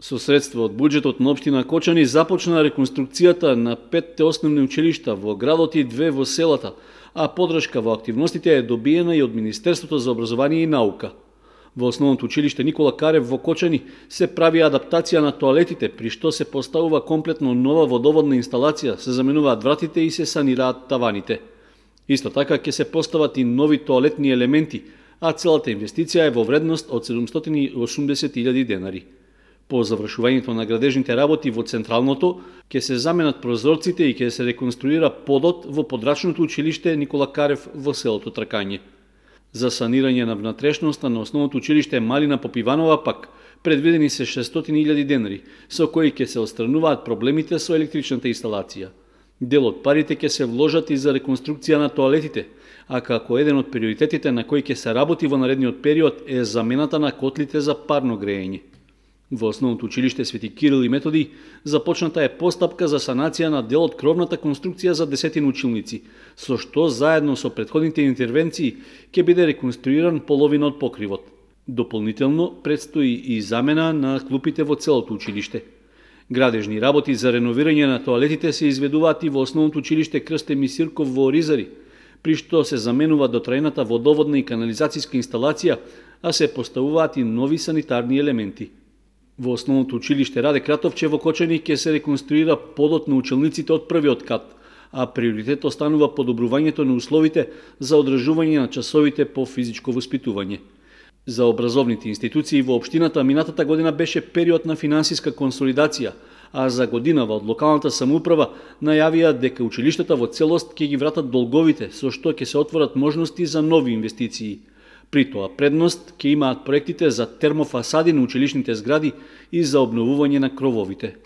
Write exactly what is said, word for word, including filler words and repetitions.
Со средства од буџетот на општина Кочани започна реконструкцијата на петте основни училишта во градот и две во селата, а подршка во активностите е добиена и од Министерството за образование и наука. Во основното училиште Никола Карев во Кочани се прави адаптација на тоалетите, при што се поставува комплетно нова водоводна инсталација, се заменуваат вратите и се санираат таваните. Исто така ќе се постават и нови тоалетни елементи, а целата инвестиција е во вредност од седумстотини и осумдесет илјади денари. По завршувањето на градежните работи во централното, ќе се заменат прозорците и ќе се реконструира подот во подрачното училиште Никола Карев во селото Тракање. За санирање на внатрешноста на основното училиште Малина Попиванова пак предвидени се шестстотини илјади денари, со кои ќе се отстрануваат проблемите со електричната инсталација. Дел од парите ќе се вложат и за реконструкција на тоалетите, а како еден од приоритетите на кои ќе се работи во наредниот период е замената на котлите за парно грејење. Во основното училиште Свети Кирил и Методи започната е постапка за санација на дел од кровната конструкција за десетина училници, со што заедно со претходните интервенции ќе биде реконструиран половина од покривот. Дополнително предстои и замена на клупите во целото училиште. Градежни работи за реновирање на тоалетите се изведуваат и во основното училиште Крсте Мисирков во Оризари, при што се заменува дотрајната водоводна и канализацијска инсталација, а се поставуваат и нови санитарни елементи. Во основното училиште Раде Кратовче во Кочани ќе се реконструира подот на училниците од првиот кат, а приоритет останува подобрувањето на условите за одржување на часовите по физичко воспитување. За образовните институции во општината минатата година беше период на финансиска консолидација, а за годинава од локалната самоуправа најавија дека училиштата во целост ќе ги вратат долговите, со што ќе се отворат можности за нови инвестиции. При тоа предност ќе имаат проектите за термофасади на училишните згради и за обновување на крововите.